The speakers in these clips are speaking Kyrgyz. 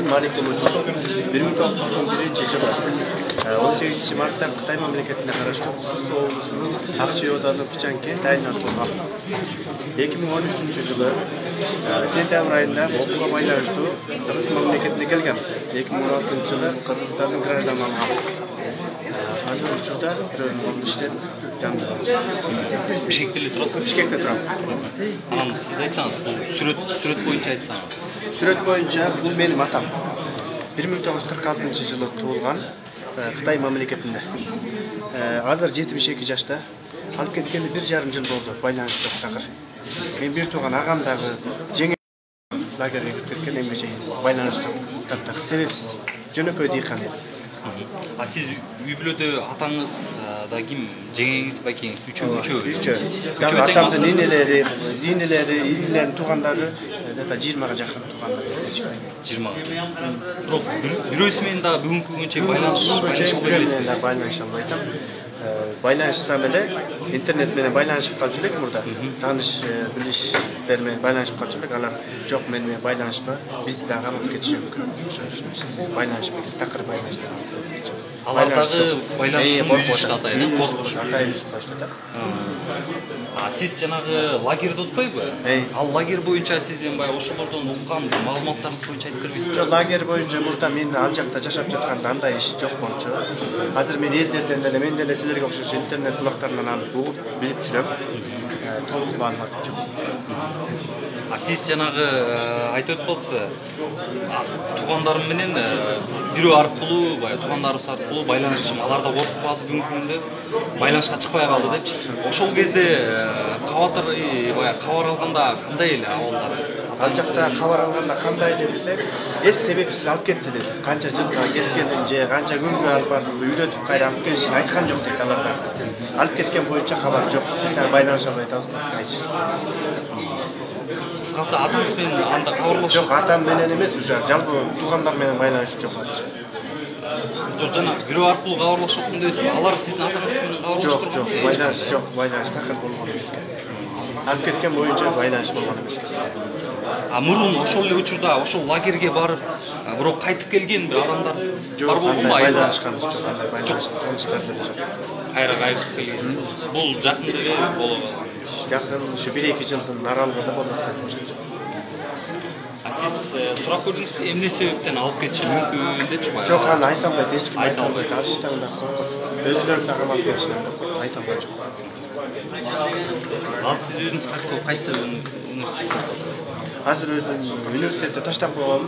Мен Малик болуучусу 1991-жылы 18-мартта Кытай мамлекетине караштуу Кысыс облусунун Акчай оодунун Пичан кент айынан туулгам. 2013-жылы сентябрь айында окууга байланыштуу Кыргыз мамлекетине келгем. 2016-жылы Кыргызстандын гражданын алгам. Азыр учурда бирөөнүн иштеп жанында. Бишкекте эле турасыз? Бишкекте турам. Анан сиз айтсаңыз, сүрөт боюнча айтсаңыз. Сүрөт боюнча бул менин атам. 1946-жылы туулган Кытай мамлекетинде. Азыр 72 жашта. Алып кеткенде 1,5 жыл болду. Байланыш жок такыр. Мен бир тууган агам дагы жеңе лагерге кирип кеткен, эмне чейин байланыш жок. Таптак себепсиз. Жөнөкөй дыйкан. А сиз үй бүлөдө атаңыз да ким? Жеңеңиз, байкеңиз үчөө. Дагы атамдын инелерин туугандары 20-га жакын туугандар. 20. Бирок бирөөсү менен да бүгүнкү күнгөнчө байланыша албайт. Байланышсам эле интернет менен байланышып калчу элек мурда. Тааныш билиштер менен байланышып калчу элек. Алар жок мен менен байланышпа. Бизди дагы алып кетиши мүмкүн. Байланышып такыр байланышты. Алар дагы байланышып атат, коркуш атат. А сиз жанагы лагерде отпойбу? Ал лагерь боюнча сиз баягы ошолордон уккан маалыматтарыңыз боюнча айтып бербейсизби? Жок, лагерь боюнча мурда мен ал жакта жашап жатканда андай иш жок болчу. Азыр мен элдерден деле мен деле силерге окшош интернет булактарынан алып угуп билип жүрөм. Толук маалыматым жок. А сиз жанагы айтып өтпөсүзбү? Туугандарым менен бирөө аркылуу, баягы туугандарыбыз аркылуу байланышчым. Алар да коркуп азыр бүгүнкү күндө байланышка чыкпай калды депчи. Ошол кезде баягы кабар алганда кандай эле абалдар? Ал жакта кабар алганда кандай эле десек, себепсиз алып кетти деди. Канча жылга кеткенин же канча күнгө алып барып үйрөтүп кайра алып келишин айткан жок дейт алар да. Алып кеткен боюнча кабар жок. Биз дагы байланыша албай атабыз деп айтышты. Кыскасы атаңыз менен анда кабарлашып? Жок, атам менен эмес, уже жалпы туугандар менен байланыш жок азыр. Жок, жана бирөө аркылуу кабарлашып аткан дейсизби? Алар сиздин атаңыз менен кабарлашып турган? Жок, байланыш жок, байланыш такыр болгон эмес экен. Алып кеткен боюнча байланыш болгон эмес экен. А мурун ошол эле учурда ошол лагерге барып, бирок кайтып келген бир адамдар бар болгонбу? Байланышканыбыз жок, андай байланыш таныштар деле жок. Кайра кайтып келген. Бул жакында эле болот. Жакын ушу 1-2 жылдын аралыгында болуп аткан ишти. А сиз сурап көрдүңүзбү, эмне себептен алып кетиши мүмкүн депчи бая? Жок, аны айта албайт, эч ким айта албайт. Ал иштен да коркот. Өзүлөрүн дагы алып кетишинен коркот, айта албай жок. Азыр сиз өзүңүз кайтып кайсы университетте окуясыз? Азыр өзүм университетти таштап койгом.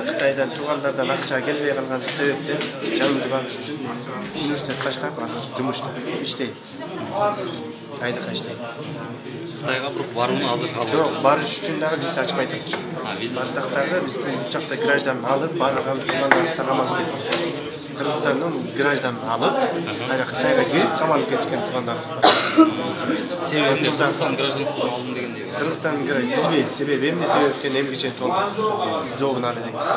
Кытайдан туугандардан акча келбей калган себептен жанымды багыш үчүн университет таштап азыр жумушта иштейм. Айлыкка иштейм. Кытайга бирок барууну азыр кабыл жок, барыш үчүн дагы виза ачпайт азыр. Барсак дагы биздин учакта граждан алып, барган туугандарыбызды камалып кетти. Кыргызстандын гражданын алып, кайра Кытайга кирип камалып кеткен туугандарыбыз бар. Себеби Кыргызстан гражданствосун алдым дегендей. Кыргызстандын билбейт, себеби эмне себептен эмгиче толук жообун ала элек биз.